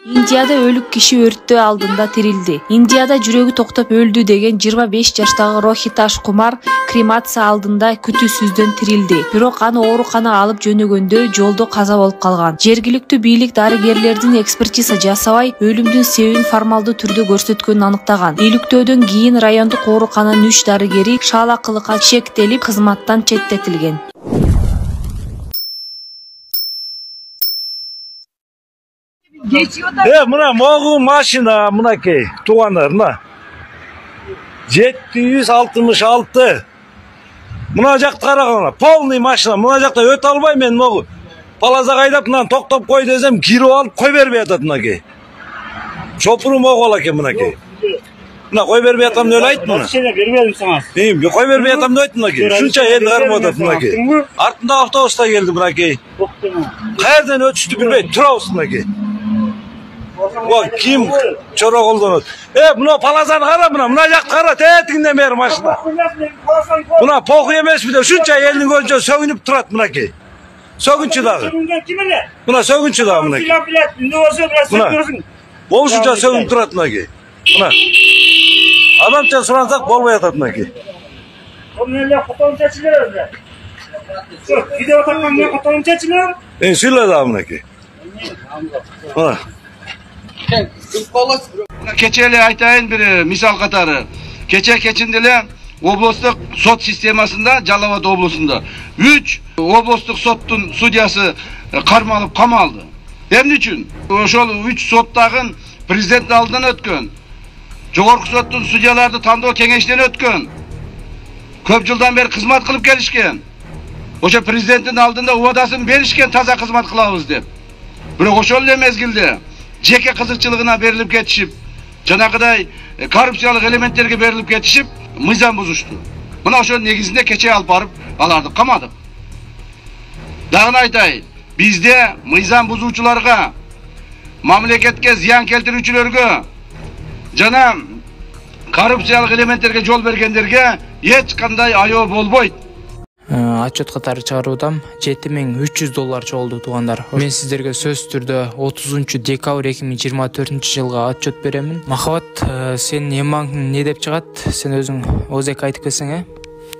Индияда өлүк киши өрттөө алдында тирилди. Индияда жүрөгү токтоп өлдү деген 25 жаштагы Рохиташ Кумар кремация алдында күтүүсүздөн тирилди. Бирок аны ооруканага алып жөнөгөндө жолдо каза болуп калган. Жергиликтүү бийлик дарыгерлердин экспертиза жасабай, өлүмдүн себебин формалдуу түрдө көрсөткөнүн аныктаган. Иликтөөдөн кийин райондук оорукананын 3 дарыгери шаалакылыкка шектелип, кызматтан четтетилген. Мына могу машина, мынакей, туугандар, мына 766. Мына жакты караганда, полный машина, мына жакта өтө албай мен могу палазага айдап, мына токтоп кой десем, кирип алып кой бербей атат мынакей. Чопуру могу ал экен мынакей. Мына кой бербей атам деп айт мына. Бербедим сага. Кой бербей атам деп айт мынакей. Ушунча эл кармап атат мынакей. Артында автобуста келди мынакей. Каерден өтүштү билбей, турабыз мынакей. Ким чора колдонот? Мына палазаны кара, мына жакты кара, тетигинден бери машина. Мына похуй эмеспи деп ушунча элдин көзүнчө сөгүнүп турат мынакей. Сөгүнчү дагы. Мына сөгүнчү дагы мынакей. Мына болушунча сөгүнүп турат мынакей. Мына адамча сурансак болбой атат мынакей. Видео тартканда котон чечилер. Сүйлө дагы мынакей. Мына Кече эле айтайын бир мисал катары. Кечинде эле облустук сот системасында, Жалал Абад облусунда 3 облустук соттун судьясы кармалып камалды. Эмне үчүн? Ошол 3 соттагын президент алдынан өткөн. Жогорку соттун судьяларды тандоо кеңештен өткөн. Көп жылдан бери кызмат кылып келишкен. Ошо президенттин алдында убадасын беришкен, таза кызмат кылабыз деп. Бирок ошол эле мезгилде жеке кызыкчылыгына берилип кетишип, жанагыдай коррупциялык элементтерге берилип кетишип, мыйзам бузушту. Мына ошонун негизинде кече алып барып аларды камадык. Дагы айтайын, бизде мыйзам бузуучуларга, мамлекетке зыян келтирүүчүлөргө жана коррупциялык элементтерге жол бергендерге эч кандай аёо болбойт. Отчет катары чыгаруудам $7300 чогулду туугандар. Мен сиздерге сөз түрдө 30 декабрь 2024 жылга отчет беремин. Махабат, сен Эмбанктын эмне деп чыгат? Сен өзүң ОЗК айтып келсең,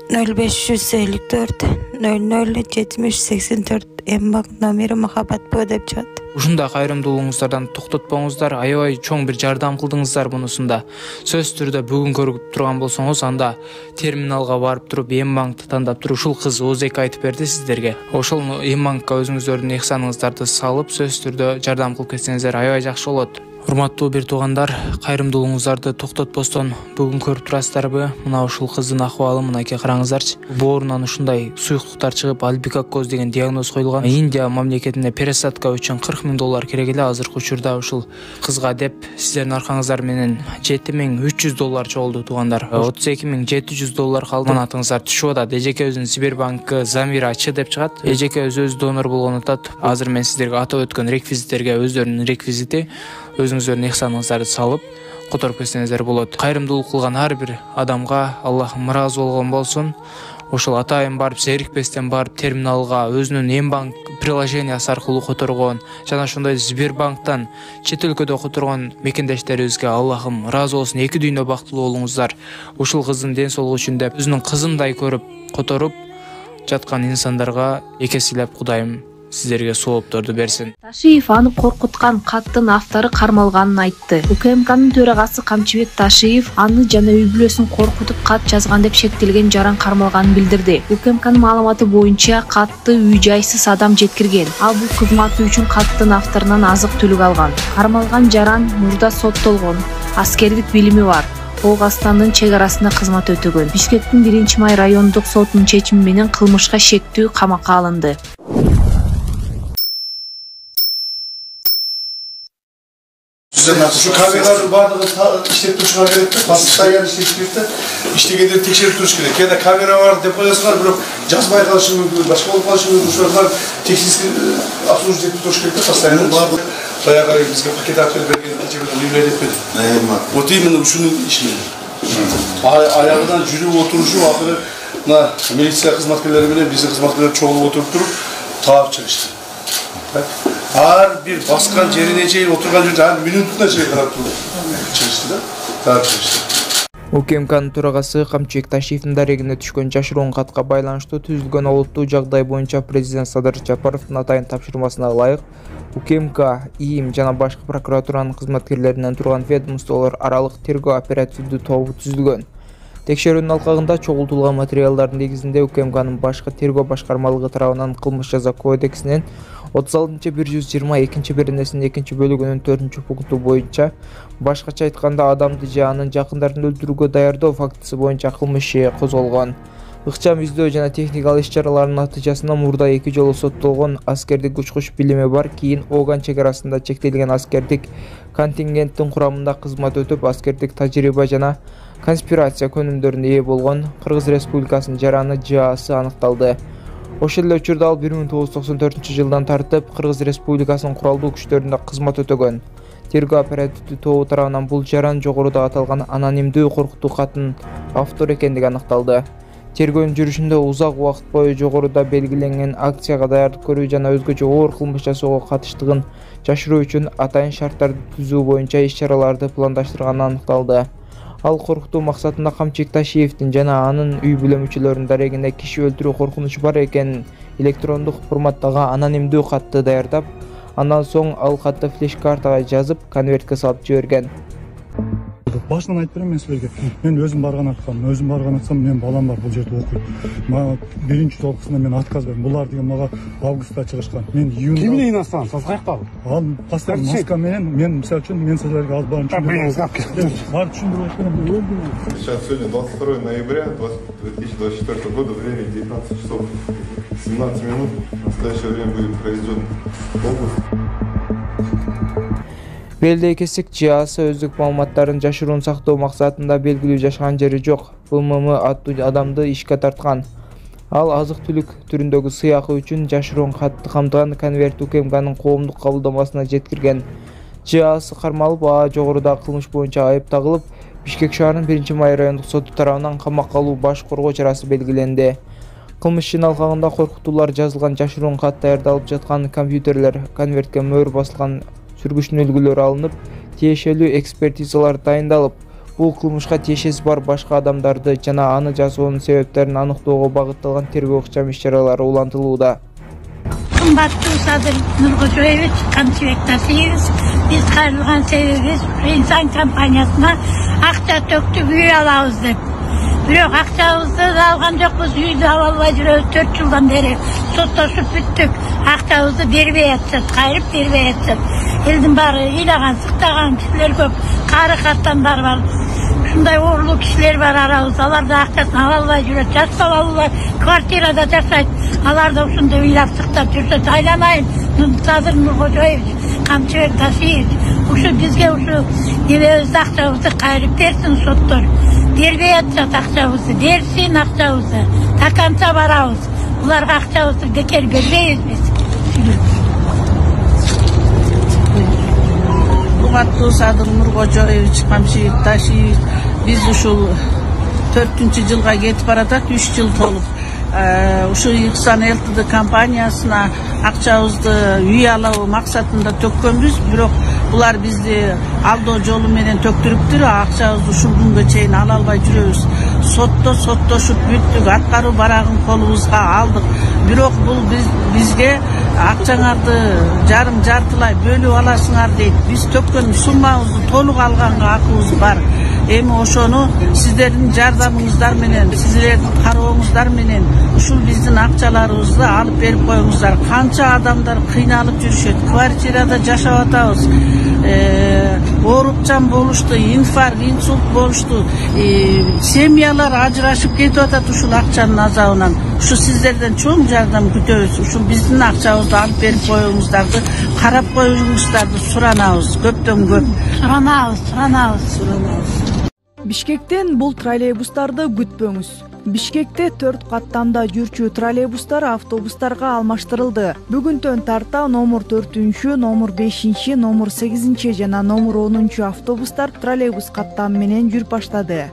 0554 00 7084 Эмбанк номери Махабат Б деп чыгат. Ушундай кайрымдуулугуңуздардан токтотпоңуздар, аябай чоң бир жардам кылдыңыздар мунусунда. Сөз түрдө бүгүн көрүп турган болсоңуз, анда терминалга барып туруп Эмбанкты тандап туруп, ушул кыз ОЗК айтып берди сиздерге. Ошол Эмбанкка өзүңүздөрдүн ыхсаныңыздарды салып, сөз түрдө жардам кылып кетсеңиздер аябай жакшы болот. Урматтуу бир туугандар, кайрымдуулугуңуздарды токтотпостон бүгүн көрүп турасыздарбы? Мына ушул кыздын акыбалы мынакей караңыздарчы. Боорунан ушундай суюктуктар чыгып, альбикакоз деген диагноз коюлган. Индия мамлекетине пересадка үчүн $40,000 керек эле. Азыркы учурда ушул кызга деп сиздердин аркаңыздар менен $7300 чогулду туугандар. $32,700 калды. Манатыңыздар түшүп атат. Эжеке өзүнүн Сбербанкы Замира Ч деп чыгат. Эжеке өзү донор болгон атат. Азыр мен сиздерге атап өткөн реквизиттерге өздөрүнүн реквизити өзүңүздөрдүн ыхсаныңыздарды салып которуп кетсеңиздер болот. Кайрымдуулук кылган ар бир адамга Аллахым ыраазы болгон болсун. Ошол атайын барып, зерикпестен барып терминалга өзүнүн Эмбанк приложениясы аркылуу которгон жана ошондой Сбербанктан чет өлкөдө которгон мекендештерибизге Аллахым ыраазы болсун. Эки дүйнө бактылуу болуңуздар. Ушул кыздын ден соолугу үчүн деп өзүнүн кызындай көрүп которуп жаткан инсандарга экесилеп Кудайым сиздерге соопторду берсин. Ташиев аны коркуткан каттын автору кармалганын айтты. УКМКнын төрагасы Камчыбек Ташиев аны жана үй бүлөсүн коркутуп кат жазган деп шектелген жаран кармалганын билдирди. УКМКнын маалыматы боюнча катты үй-жайсыз адам жеткирген. Ал бул кызматы үчүн каттын авторунан азык-түлүк алган. Кармалган жаран мурда соттолгон, аскердик билими бар. Оғастанын чек арасында кызмат өтөгөн. Бишкектин 1-май райондук сотунун чечими менен кылмышка шектүү камакка алынды. Şu kameraların bardağını işletip turuşuna gerek yok. Basıştayyan işletip de iştegenleri tekşerip turuş gerek. Ya da kamera var, depoyasılar, bırak жазбай kalışın mümkün, başka olup kalışın mümkün. Şuralar teksis absolut etip turuş gerek de basıştayyan. Bayağı bizge paket akıl vergen geçebilen livret etmedi. O imенно şunun işini. Ayağından jürüp oturuşu ahırı militsiya hizmetkarları bilen bizi hizmetkarları çoğulup oturup durup tağıp çalıştı. ар бир баскан жерине чейин отурган жерде ар минутуна чейин карап туруп чыгышты да. Карап чыгышты. УКМКнын төрагасы Камчыбек Ташиевдин дарегине түшкөн жашыруун катка байланыштуу түзүлгөн олуттуу жагдай боюнча президент Садыр Жапаровдун атайын тапшырмасына ылайык УКМК, ИИМ жана башкы прокуратуранын кызматкерлеринен турган ведомстволор аралык тергөө оперативдүү тобу түзүлгөн. Текшерүүнүн алкагында чогултулган материалдардын негизинде УКМКнын башкы тергөө башкармалыгы тарабынан кылмыш жаза кодексинин 36-122 беренесинин 2-бөлүгүнүн 4-пункту боюнча башкача айтканда адамды же анын жакындарын өлтүрүүгө даярдоо фактысы боюнча кылмыш иши козголгон. Ыкчам издөө жана техникалык иш-чаралардын натыйжасында мурда 2 жолу соттолгон аскердик учкуч билими бар, кийин Оган чек арасында чектелген аскердик контингенттин курамында кызмат өтүп, аскердик тажрыйба жана конспирация көнүмдөрүнө ээ болгон Кыргыз Республикасынын жараны ЖААсы аныкталды. Ошол эле учурда ал 1994-жылдан тартып Кыргыз Республикасынын куралдуу күчтөрүндө кызмат өтөгөн. Тергөө оперативдүү тобу тарабынан бул жаран жогоруда аталган анонимдүү коркутуу каттын автор экендиги аныкталды. Тергөөнүн жүрүшүндө узак убакыт бою жогоруда белгиленген акцияга даярдык көрүү жана өзгөчө оор кылмыш жасоого катыштыгын жашыруу үчүн атайын шарттарды түзүү боюнча иш-чараларды пландаштырганы аныкталды. Ал коркутуу максатында Камчыбек Ташиевдин жана анын үй бүлө мүчөлөрүнүн дарегине киши өлтүрүү коркунучу бар экенин электрондук форматтагы анонимдүү катты даярдап, андан соң ал катты флеш-картага жазып, конвертке салып жиберген. Башынан айтып берем мен силерге. Мен өзүм барган атсам, мен балам бар бул жерде окуйт. Мага биринчи толкусунда мен отказ бердим. Булар деген мага августта чыгышкан. Мен июнда. Ким менен астан? Сиз каяктагы? Ал паспорт маска менен мен мисалы үчүн мен силерге алып барып түшүндүрүп берем. Сейчас сегодня 22 ноября 2024 года, время 19 часов 17 минут. В настоящее время будет проведен обыск. Белдей кесик ЖААсы өздүк маалыматтарын жашыруун сактоо максатында белгилүү жашаган жери жок БММ аттуу адамды ишке тарткан. Ал азык-түлүк түрүндөгү сыйакы үчүн жашыруун катты камтыган конверт УКМКнын коомдук кабылдамасына жеткирген. ЖААсы кармалып, жогорудагы кылмыш боюнча айып тагылып, Бишкек шаарынын 1-Май райондук соту тарабынан камакка алуу баш коргоо чарасы белгиленди. Кылмыш ишинин алкагында коркутуулар жазылган жашыруун кат даярдалып жаткан компьютерлер, конвертке мөөр басылган сүргүчтүн үлгүлөрү алынып, тиешелүү экспертизалар дайындалып, бул кылмышка тиешеси бар башка адамдарды жана аны жасоонун себептерин аныктоого багытталган тергөө ыкчам иш-чаралары улантылууда. Кымбаттуу Садыр Нуркожоевич, Камчыбек Ташиевич, биз кайрылган себебибиз инсан компаниясына акча төктүп үй алабыз деп. Бирок акчабызды алган жокпуз, үйдү ала албай жүрөбүз 4 жылдан бери. Соттошуп бүттүк. Акчабызды бербей атышат, кайрып бербей атышат. Элдин баары ыйлаган, сыктаган кишилер көп, кары каттандар бар. Ушундай оорулуу кишилер бар арабызда, алар да акчасын ала албай жүрөт. Жаш балалар квартирада жашайт. Алар да ушундай ыйлап сыктап жүрсөт. Айланайын, Садыр Нуркожоевич, Камчыбек Ташиевич, ушу бизге ушу небебизди акчабызды кайрып берсин соттор. Бербей атышат акчабызды, берсин акчабызды. Таканча барабыз. Буларга акчабызды бекер бербейбиз биз. Урматтуу Садыр Нуркожоевич, Камчыбек Ташиевич, биз ушул 4-жылга кетип баратат, 3 жыл толуп. Ушу Ихсан ЛТД компаниясына акчабызды үй алуу максатында төккөнбүз, бирок булар бизди алдоо жолу менен төктүрүптүр, акчабызды ушул күнгө чейин ала албай жүрөбүз. Соттошуп бүттүк, аткаруу барагын колубузга алдык. Бирок бул бизге акчаңарды жартылай бөлүп аласыңар дейт. Биз төккөн суммабызды толук алганга акыбыз бар. Эми ошону сиздердин жардамыңыздар менен, сиздердин карооңуздар менен ушул биздин акчаларыбызды алып берип коюңуздар. Канча адамдар кыйналып жүрүшөт, квартирада жашап атабыз. Оорукчан болушту, инфаркт, инсульт болушту. Семьялар ажырашып кетип атат ушул акчанын азабынан. Ушу сиздерден чоң жардам күтөбүз. Ушул биздин акчабызды алып берип коюңуздарды, карап коюңуздарды суранабыз. Көптөн көп. Суранабыз. Бишкектен бул троллейбустарды күтпөңүз. Бишкекте 4 каттамда жүрчү троллейбустар автобустарга алмаштырылды. Бүгүнтөн тарта номер 4, номер 5, номер 8 жана номер 10 автобустар троллейбус каттамы менен жүрүп баштады.